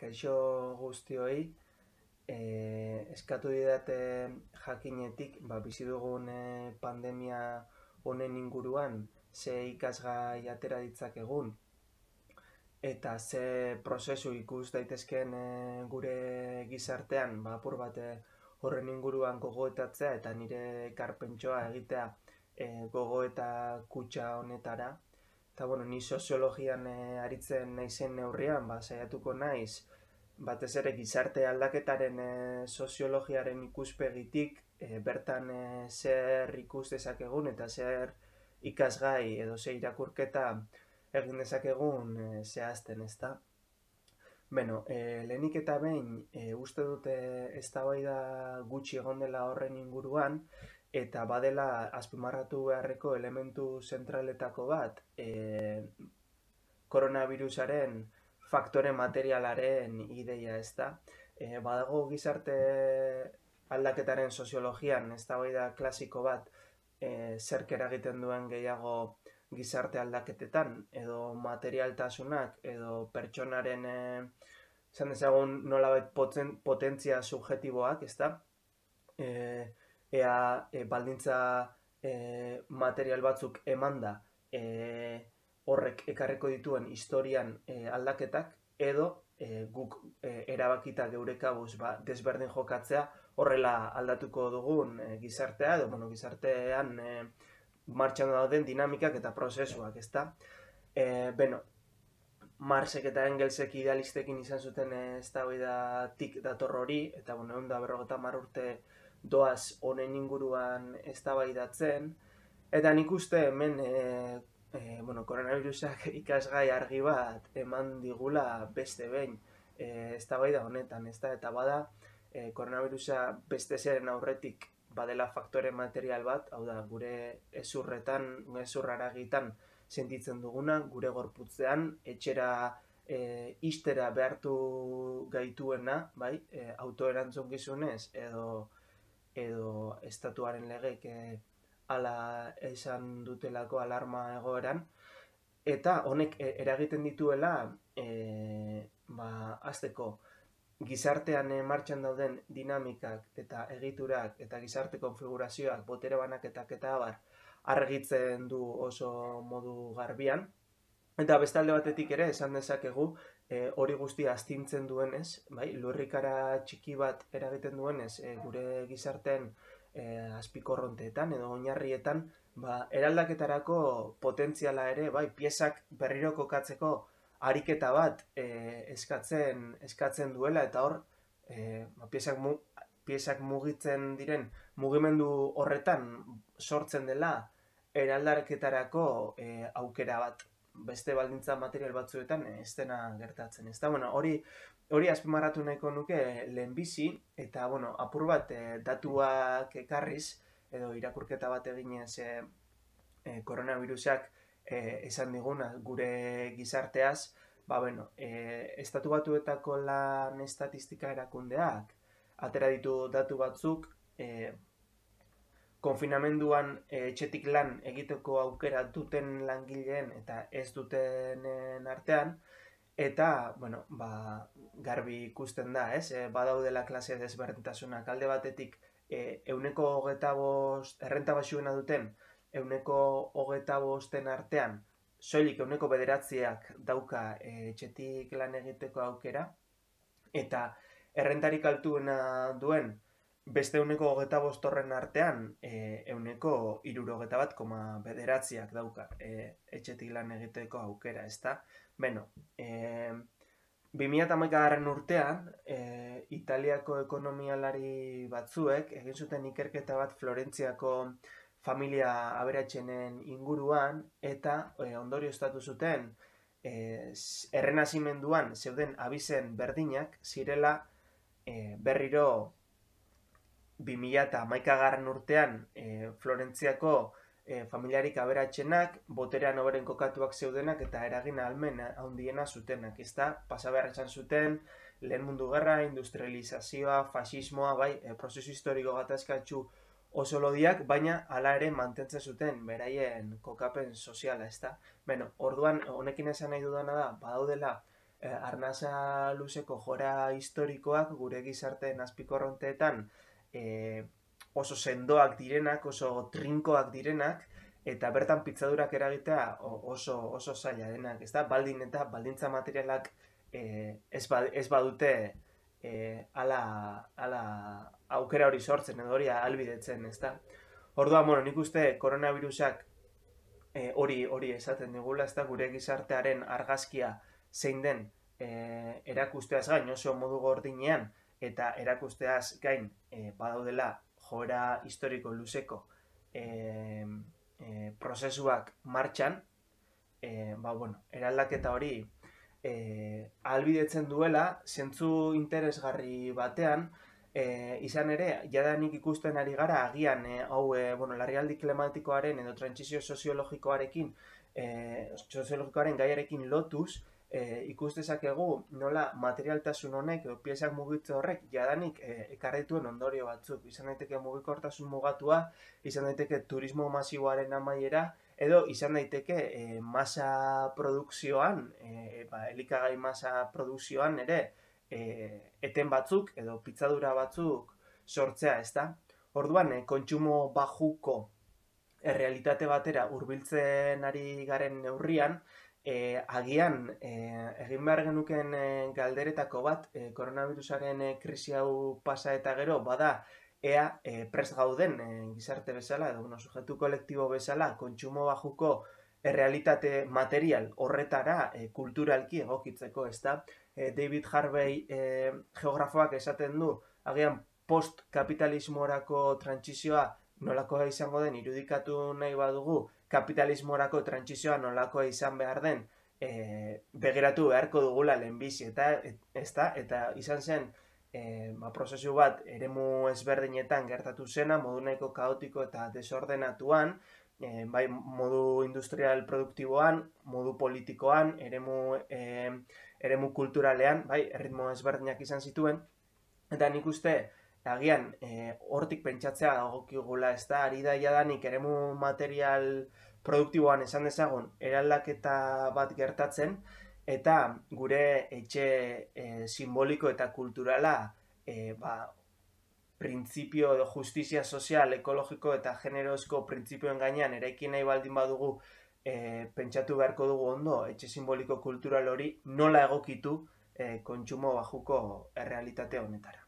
Kaixo guztioi, eskatu didate jakinetik, bizi dugun pandemia honen inguruan, ze ikasgai atera ditzakegun, eta ze prozesu ikus daitezkeen gure gizartean, apur bat horren inguruan gogoetatzea eta nire ekarpentsoa egitea gogoeta kutxa honetara. Eta, ni soziologian aritzen naizen neurrian, saiatuko naiz, batez ere gizarte aldaketaren soziologiaren ikuspegitik, bertan zer ikus dezakegun eta zer ikasgai edo zer irakurketa egin dezakegun zehazten, ezta? Lehenik eta behin, uste dute eztabaida gutxi egon dela horren inguruan, eta badela azpimarratu beharreko elementu zentraletako bat, koronavirusaren faktore materialaren ideia, ezta? Badago gizarte aldaketaren soziologian eztabaida klasiko bat, zerk eragiten duen gehiago gizarte aldaketetan, edo materialtasunak, edo pertsonaren esan dezagun nolabait potentzia subjetiboak, ezta? Ea baldintza material batzuk emanda horrek ekarriko dituen historian aldaketak, edo guk erabakita geure kabuz desberdin jokatzea horrela aldatuko dugun gizartea, edo gizartean martxan dauden dinamikak eta prozesuak, ezta? Marxek eta Engelsek idealistekin izan zuten eztabaidatik dator hori, eta 150 urte doaz honen inguruan eztabaidatzen, eta nik uste hemen koronavirusak ikasgai argi bat eman digula beste behin eztabaida honetan, ezta? Eta bada, koronavirusa beste zeren aurretik badela faktore material bat, hau da, gure hezurraragitan sentitzen duguna, gure gorputzean, etxera ixtera behartu gaituena, bai, autoerantzukizunez edo estatuaren legek hala esan dutelako alarma egoeran, eta honek eragiten dituela hasteko gizartean martxan dauden dinamikak eta egiturak eta gizarte konfigurazioak, botere banaketak eta abar, argitzen du oso modu garbian, eta bestalde batetik ere esan dezakegu hori guztia astintzen duenez, bai, lurrikara txiki bat eragiten duenez gure gizarteen azpikorronteetan edo oinarrietan, eraldaketarako potentziala ere, bai, piezak berriro kokatzeko ariketa bat eskatzen duela, eta hor piezak mugitzen diren mugimendu horretan sortzen dela eraldaketarako aukera bat, beste baldintza material batzuetan ez dena gertatzen, ezta? Hori azpimarratu nahiko nuke lehenbizi, eta apur bat datuak ekarriz edo irakurketa bat eginez koronavirusak esan diguna gure gizarteaz, Estatu Batuetako lan estatistika erakundeak atera ditu datu batzuk konfinamenduan etxetik lan egiteko aukera duten langileen eta ez dutenen artean, eta, garbi ikusten da, ez? Badaudela klase desberdintasunak, alde batetik 25% errenta baxuena duten 25% artean, soilik 9% dauka etxetik lan egiteko aukera, eta errentarik altuena duen beste 25% artean 61,9% dauka etxetik lan egiteko aukera, ezta? 2011 urtean, Italiako ekonomialari batzuek egin zuten ikerketa bat Florentziako familia aberatsenen inguruan, eta ondorioztatu zuten errenazimenduan zeuden abizen berdinak zirela berriro 2011 urtean Florentziako familiarik aberatsenak, boterean hoberen kokatuak zeudenak eta eragin ahalmen handiena zutenak, ezta? Pasa behar izan zuten Lehen Mundu Gerra, industrializazioa, fasismoa, prozesu historiko gatazkatsu oso lodiak, baina hala ere mantentzen zuten beraien kokapen soziala, ezta? Orduan, honekin esan nahi dudana da, badaudela Arnasa luzeko jora historikoak gure gizarteen azpikorronteetan oso sendoak direnak, oso trinkoak direnak, eta bertan pitzadurak eragitea oso zaila denak, ez da? Baldin eta baldintza materialak ez badute ala aukera hori sortzen edo hori ahalbidetzen, ez da? Orduan, bueno, nik uste koronavirusak hori esaten digula, ez da, gure gizartearen argazkia zein den erakusteaz gain oso modu gordinean eta erakusteaz gain badaudela joera historiko luzeko prozesuak martxan, eraldaketa hori ahalbidetzen duela, zentzu interesgarri batean, izan ere, jadanik ikusten ari gara, agian, larrialdi klimatikoaren edo trantsizio soziologikoaren gaiarekin lotuz, ikus dezakegu nola materialtasun honek edo piezak mugitze horrek jadanik ekarrituen ondorio batzuk. Izan daiteke mugikortasun mugatua, izan daiteke turismo masiboaren amaiera, edo izan daiteke masa produkzioan, elikagai masa produkzioan ere, eten batzuk edo pitzadura batzuk sortzea, ez da? Orduan, kontsumo bajuko errealitate batera hurbiltzen ari garen neurrian, agian egin behar genuken galderetako bat, koronavirusaren krisi hau pasa eta gero, bada ea prest gauden gizarte bezala, edo sujetu kolektibo bezala, kontsumo bajuko errealitate material horretara kulturalki egokitzeko, ez da? David Harvey geografoak esaten du, agian post-kapitalismorako trantsizioa nolakoa izango den irudikatu nahi badugu, kapitalismorako trantsizioa nolakoa izan behar den begiratu beharko dugula lehenbizi, eta izan zen prozesu bat eremu ezberdinetan gertatu zena, modu nahiko kaotiko eta desordenatuan, bai modu industrial produktiboan, modu politikoan, eremu kulturalean, bai, erritmo ezberdinak izan zituen, eta nik uste, agian, hortik pentsatzea dagokigula, ez da, ari da jadanik eremu material produktiboan esan dezagun, eraldaketa bat gertatzen, eta gure etxe simboliko eta kulturala, printzipio edo justizia sozial, ekologiko eta generozko printzipioen gainean eraikin nahi baldin badugu pentsatu beharko dugu ondo, etxe simboliko kultural hori nola egokitu kontsumo bajuko errealitate honetara.